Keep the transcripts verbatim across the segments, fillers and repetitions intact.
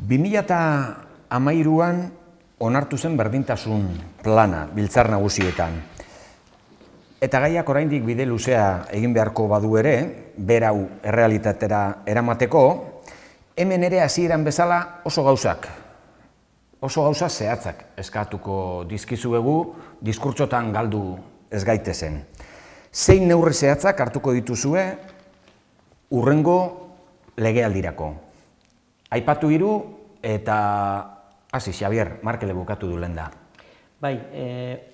bi mila hamairuan onartu zen berdintasun plana biltzar nagusietan. Eta gaiak oraindik bide luzea egin beharko badu ere, berau errealitatera eramateko, hemen ere hasieran bezala oso gauzak, oso gauza zehatzak eskatuko dizkizuegu, diskurtsotan galdu ez gaitezen. Zein neurri zehatzak hartuko dituzue hurrengo legealdirako. Aipatu hiru eta hasi Xabier, Markele bukatu du lehen da. Bai,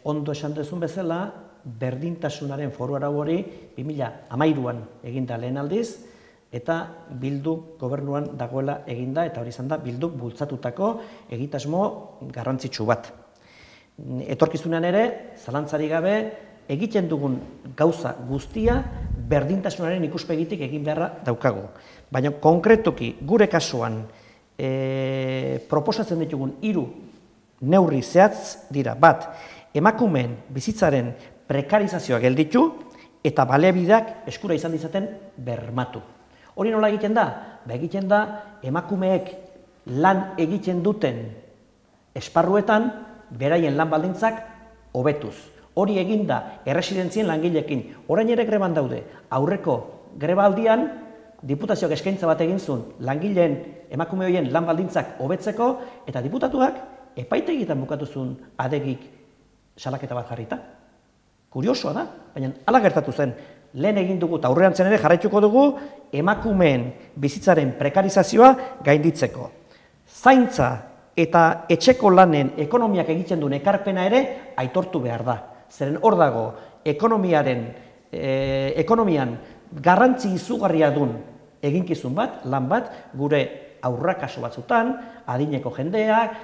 ondo esan duzun bezala, berdintasunaren foru arau hori bi mila hamairuan eginda lehen aldiz, eta Bildu gobernuan dagoela eginda, eta hori izan da Bilduk bultzatutako egitasmo garrantzitsu bat. Etorkizunean ere, zalantzari gabe, egiten dugun gauza guztia berdintasunaren ikuspegitik egin beharra daukagu. Baina konkretoki gure kasuan proposatzen ditugun hiru neurri zehatz dira. Bat, emakumeen bizitzaren prekarizazioa gelditu eta baliabideak eskura izan ditzaten bermatu. Hori nola egiten da? Ba egiten da emakumeek lan egiten duten esparruetan beraien lan baldintzak hobetuz. Hori eginda erresidentzien langileekin. Orain ere greban daude. Aurreko grebaldian diputazioak eskaintza bat egin zuen langileen emakume horien lan baldintzak hobetzeko eta diputatuak epaitegietan bukatu zuen adegik salaketa bat jarrita. Kuriosoa da, baina hala gertatu zen. Lehen egin dugu eta aurrerantzen ere jarraituko dugu emakumeen bizitzaren prekarizazioa gainditzeko. Zaintza eta etxeko lanen ekonomiak egiten duen ekarpena ere aitortu behar da. Zeren hor dago ekonomiaren, ekonomian garrantzi izugarria duen eginkizun bat, lan bat, gure aurrakaso batzutan, adineko jendeak,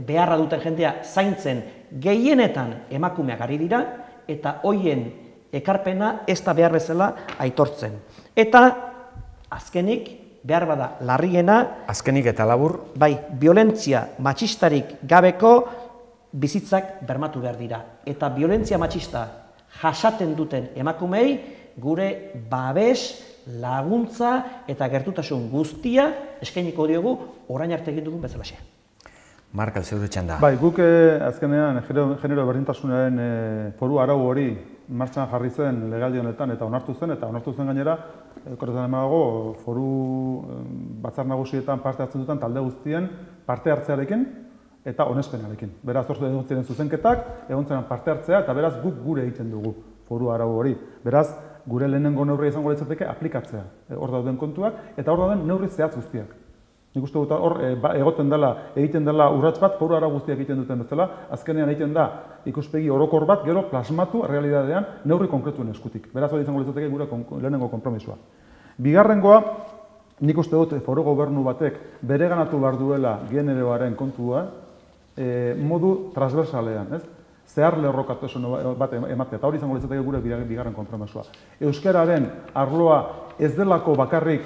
beharra duten jendea zaintzen gehienetan emakumeak ari dira, eta hoien ekarpena ez da behar bezala aitortzen. Eta azkenik, behar bada larriena, azkenik eta labur, bai, violentzia matxistarik gabeko bizitzak bermatu behar dira. Eta violentzia matxista jasaten duten emakumei gure babes, laguntza eta gertutasun guztia eskainiko diogu orain arte egin dugun bezalaxe. Markel, zeure txanda. Bai, guk azkenean genero berdintasunaren foru arau hori martxan jarri zen legaldi honetan eta onartu zen, eta onartu zen gainera, korretan emago, foru batzar nagusietan parte hartzen duten talde guztien parte hartzearekin eta onespenarekin. Beraz, orzu egon ziren zuzenketak, egon ziren parte hartzea, eta beraz guk gure egiten dugu foru arau hori. Beraz, gure lehenengo neurria izango litzateke aplikatzea hor dauden kontuak, eta hor dauden neurri zehatz guztiak. Nik uste dut hor egoten dela, egiten dela urrats bat, foru arau guztiak egiten duten bezala, azkenean egiten da ikuspegi orokor bat, gero plasmatu realitatean neurri konkretuen eskutik. Beraz, hori izango litzateke gure lehenengo konpromisoa. Bigarrengoa, nik uste dut foru gobernu batek bereganatu behar duela generoaren kontua modu transversalean, ez? Zehar lerrokatasun bat ematea, eta hori izango litzateke gure bigarren konpromisoa. Euskararen arloa ez delako bakarrik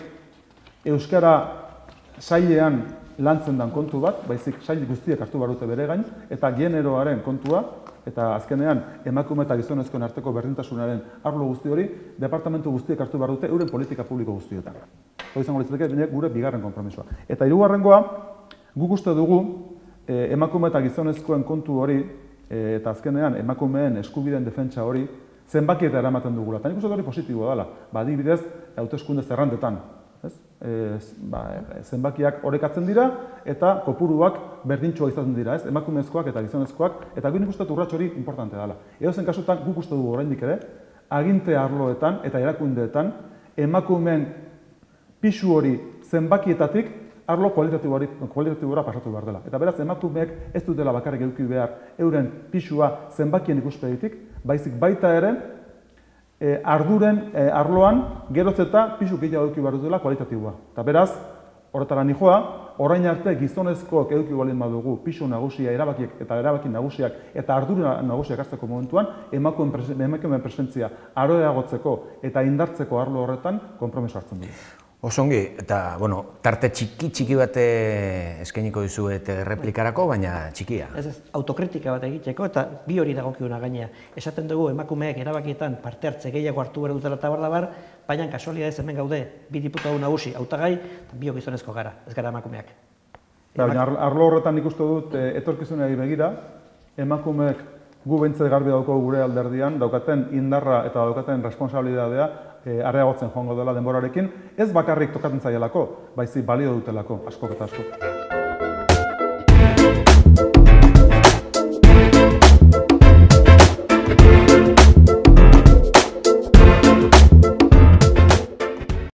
euskara sailean lantzen den kontu bat, baizik sail guztiek hartu behar dute bere gain, eta generoaren kontua, eta azkenean emakume eta gizonezkoen arteko berdintasunaren arlo guzti hori, departamentu guztiek hartu behar dute euren politika publiko guztietan. Hori izango litzateke gure bigarren konpromisoa. Eta hirugarrengoa, guk uste dugu emakume eta gizonezkoen kontu hori, eta azkenean emakumeen eskubideen defentsa hori zenbakieta eramaten dugula. Eta nik uste hori positiboa dela, adibidez, hauteskunde zerrandetan. Zenbakiak orekatzen dira eta kopuruak berdintxoa izaten dira, emakumezkoak eta gizonezkoak, eta nik uste urrats hori importante dela. Edozen kasutan guk uste dugu oraindik ere, aginte arloetan eta erakundeetan emakumeen pisu hori zenbakietatik arlo kualitatibora pasatu behar dela. Eta beraz, emakumeek ez dutela bakarrik eduki behar euren pisua zenbakien ikuspegitik, baizik baita ere arduren arloan geroz eta pisu gehiago eduki behar dutela kualitatiboa. Eta beraz, horretara nijoa, orain arte gizonezkoak eduki baldin badugu pisu nagusia erabakiek eta erabaki nagusiak eta ardura nagusiak hartzeko momentuan, emakumeen presentzia aroeagotzeko eta indartzeko arlo horretan konpromiso hartzen dugu. Osongi, eta, bueno, tarte txiki-txiki bat eskainiko dizuet replikarako, baina txikia. Ez ez, autokritika bat egiteko, eta bi hori dagokiuna gainea. Esaten dugu emakumeek erabakietan parte hartze gehiago hartu behar dutela eta bardabar, baina kasualidadez hemen gaude bi diputatu nagusi hautagai, eta bi gizonezko gara, ez gara emakumeak. Baina arlo horretan ikustu dut etorkizunari begira, emakumeek gu behintzat garbi daukagu gure alderdian, daukaten indarra eta daukaten responsabilidadea areagotzen joango dela denborarekin, ez bakarrik tokatzen zaielako, baizik balio dutelako, askok eta askok.